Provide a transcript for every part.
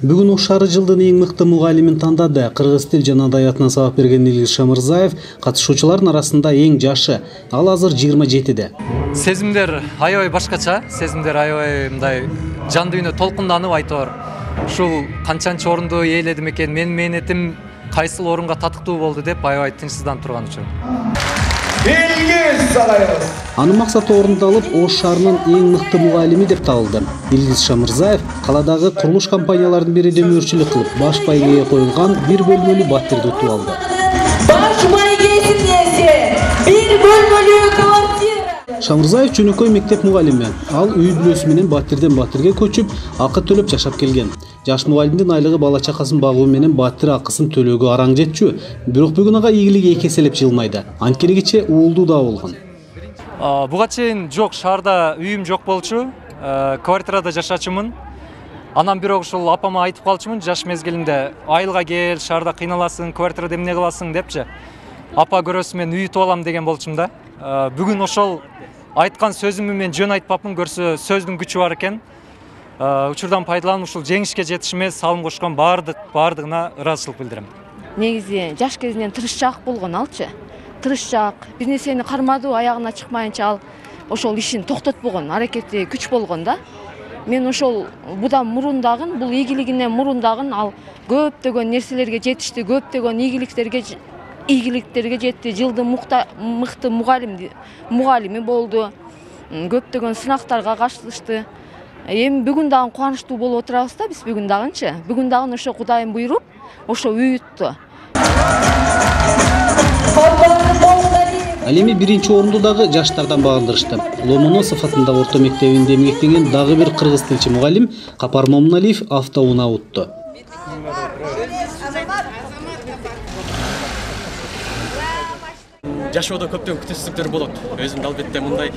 Бүгүн Ош шаары жылдын эң мыкты мугалимин тандады. Кыргыз тил жана адабиятына сабак берген Илгиз Шамырзаев катышуучулардын арасында эң жашы. Ал азыр 27-де. Сезимдер аябай башкача, сезимдер аябай мындай жан дүйнө толкунданып айтор. Ушул канчанчы орунду ээледим экен, менин мээнетим кайсыл орунга татыктуу болду деп аябай тынчсызданып турган учур. Илгиз сарайыбыз. Анын максаты орундалып, Ош шаарынын эң мыкты мугалими деп табылды. Илгиз Шамырзаев каладагы курулуш компанияларынын биринде мөөрчүлүк кылып, баш байгеге коюлган бир бөлмөлүү батирди утуп алды. Баш байгесин эсе, бир бөлмөлүү квартира. Шамырзаев жөнөкөй мектеп мугалими. Ал үй бүлөсү менен батирден батирге көчүп, акы төлөп жашап келген. Жаш мугалимдин айлыгы бала чакасын багуу менен батир акысын төлөөгө араң жетчү. Бирок бүгүн ага ийгилиги эки эселеп жылмайды. Анткени уулдуу да болгон. Буга чейин жок, шаарда үйүм жок болчу. Квартирада жашачумун. Анан бирок ушул апама айтып калчумун жаш мезгилинде, айылга кел, шаарда кыйналасың, квартирада эмне кыласың депчи. Апа көрөсү мен үй утуп алам деген болчум да. Бүгүн ошол айткан сөзүмдү мен жөн айтпапмын, көрсө сөздүн күчү бар экен. Учурдан пайдаланып ушул жеңишке жетишиме салым кошкон бардыгына ыраазычылык билдирем. Негизи жаш кезинен тырышчаак болгон алчы. Тырышчаак, бир нерсени кармадуу аягына чыкмайынча ал ошол ишин токтотпогон, аракети күч болгон да. Мен ошол будан мурун дагы, бул ийгилигинен мурун дагы ал көптөгөн нерселерге жетишти, көптөгөн ийгиликтерге жетти. Жылдын мыкты мугалими болду. Көптөгөн сынактарга катышты. Эми бүгүн дагы кубанычтуу болуп отурабыз да, биз бүгүн дагынчы. Бүгүн дагы ошо Кудайым буйруп, ошо үй утту. Ал эми биринчи орунду дагы жаштардан багындырышты. Ломоносов атындагы орто мектебинде эмгектеген дагы бир кыргыз тилчи мугалим Капар Момуналиев автоунаа утту. Жашоодо көптөгөн күтүүсүзлүктөр болот. Өзүмдү албетте мындай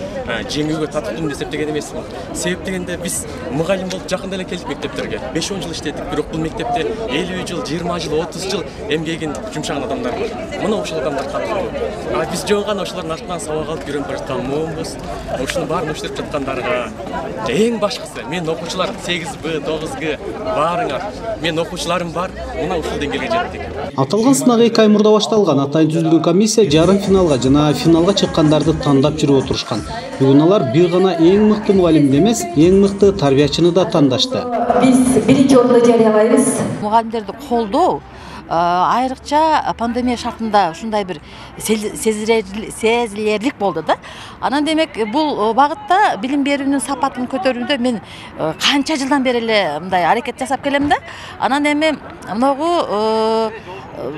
жеңүүгө татыктуу деп эсептеген эмесмин. Себеп дегенде биз мугалим болуп жакында эле келдик мектептерге. 5-10 жыл иштедик, бирок бул мектепте 50 жыл, 20 жыл, 30 жыл эмгегин жумшаган адамдар бар. Мына ошол адамдар каттуу. Биз жөн гана ошолордун артынан сабак алып үйрөнүп бара жаткан момунбуз. Ушуну баарын өчтүрүп жаткандарга эң башкысы мен окуучулар 8Б, 9Г баарыңар. Мен окуучуларым бар, мына ушул деңгээлге жеттик. Аталган сынак 2 ай мурда башталган. Атайын түзүлгөн комиссия жарым финалга жана финалга чыккандарды тандап жүрүп отурушкан. Бүгүн алар бир гана эң мыкты мугалимди эмес, эң мыкты тарбиячыны да тандашты. Биз биринчи орунду жарыялайбыз. Мугалимдерди колдоо айрыкча пандемия шартында ушундай бир сезилерлик болду да. Анан демек бул багытта билим берүүнүн сапатын көтөрүүндө мен канча жылдан бери эле мындай аракет жасап келем да. Анан эми могу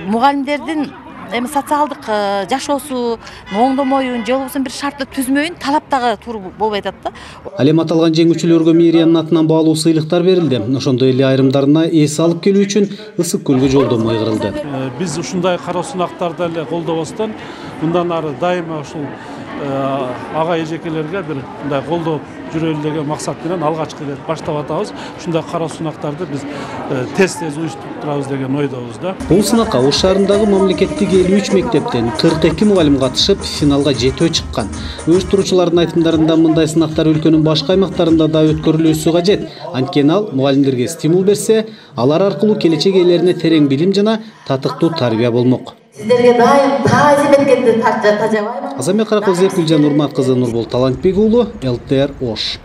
мугалимдердин социалдык жашоосу, оңдомоюн, же болбосо бир шартты түзмөйүн талап дагы туура болбой атат да. Ал эми аталган жеңүүчүлөргө мэриянын атынан баалуу сыйлыктар берилди. Ошондой эле айрымдарына эс алып келүү үчүн ысык көлгө жолдомо ыйгырылды. Биз ушундай кароо сунактарды эле колдобостон, мындан ары дайыма ушул ага эжекелерге бир мындай колдоп жүрөлү деген максат менен алгачкы баштап атабыз. Ушундай кароо сунактарды биз тез уюштуруп турабыз деген ойдобуз да. Бул сынакка Ош шаарындагы мамлекеттик 53 мектептен 42 мугалим катышып, финалга жетөө чыккан. Уюштуруучулардын айтымдарында мындай сынактар өлкөнүн башка аймактарында да өткөрүлүүсү кажет. Анткени ал мугалимдерге стимул берсе, алар аркылуу келечек ээлерине терең билим жана татыктуу тарбия болмок. Сиздерге дайым таазим эткенди тажабайбы. Азамбек Каракөзев, Гүлжан Урмат кызы, Нурбол Талантбек уулу, ЛТР Ош.